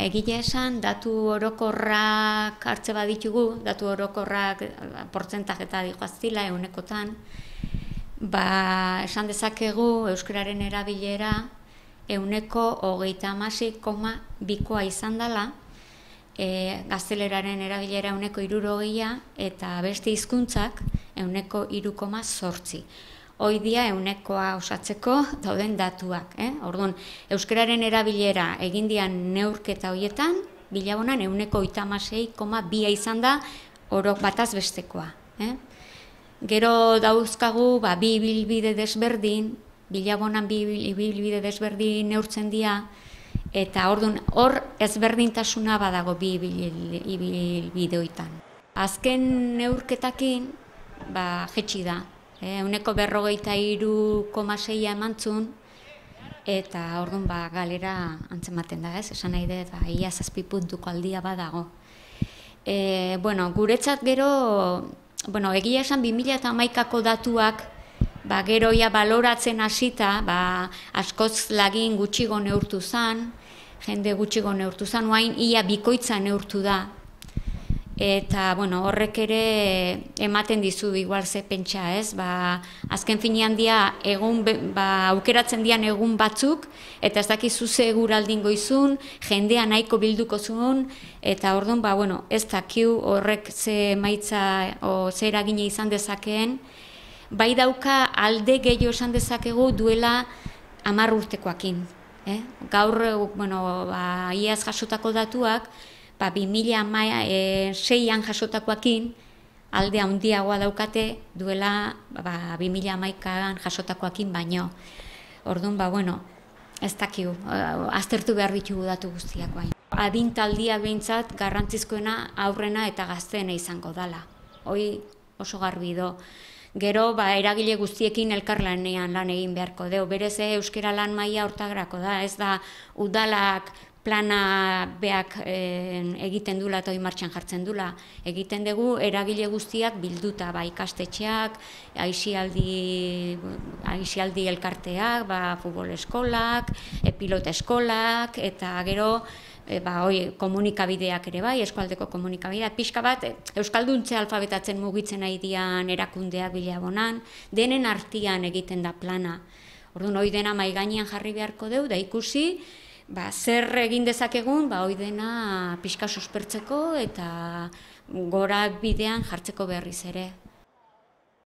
Egia esan, datu orokorrak hartze baditugu, datu orokorrak portzentajeta dihoaztila eunekotan, esan dezakegu euskararen erabilera euneko 36,2koa izan dela, gazteleraren erabilera euneko 60 eta beste hizkuntzak euneko 3,8. Hoidia eunekoa osatzeko dauden datuak. Orduan, euskararen erabilera egindian neurketa horietan, bilabonan euneko 36,2 izan da orok bataz bestekoa. Gero dauzkagu bi ibilbide desberdin, bilabonan bi ibilbide desberdin neurtzen dira, eta orduan hor ezberdintasuna badago bi ibilbide horietan. Azken neurketakin jetxi da. Euneko 43,6 emantzun, eta orduan galera antzematen da, esan nahi dut, ia 7 puntuko aldia badago. Guretzat gero, egia esan 2011ko datuak, gero ia baloratzen hasita, askoz lagin gutxigo neurtu zen, jende gutxigo neurtu zen, oain ia bikoitza neurtu da. Eta, horrek ere ematen dizu igual ze pentsa, ez? Azken finean dia, aukeratzen dian egun batzuk, eta ez dakizu ze eguraldin goizun, jendea nahiko bilduko zuen, eta orduan, ez dakiu horrek ze maitza o ze eragine izan dezakeen, bai dauka alde gehiago esan dezakegu duela 10 urtekoakin. Gaur, iaz jasotako datuak, 2006an jasotakoakin alde handiagoa daukate duela 2011an jasotakoakin baino. Orduan, ez dakigu, aztertu behar ditugu datu guztiak baino. Adintaldia behintzat garrantzizkoena aurrena eta gazteena izango dela. Hoi oso garbi do. Gero, eragile guztiekin elkarlanean lan egin beharko deu. Berez euskara lan maila hortagrako da, ez da udalak plana beak egiten dula eta hori martxan jartzen dula. Egiten dugu eragile guztiak bilduta, ikastetxeak, aisialdi elkarteak, futbol eskolak, pilota eskolak, eta gero komunikabideak ere bai, eskualdeko komunikabideak, pixka bat, euskalduntze alfabetatzen mugitzen nahi dian erakundeak bilabonan, denen artian egiten da plana. Orduan, hori dena mahai gainean jarri beharko deu, da ikusi, zer egin dezakegun, hori dena pixka suspertzeko eta gora bidean jartzeko berriz ere.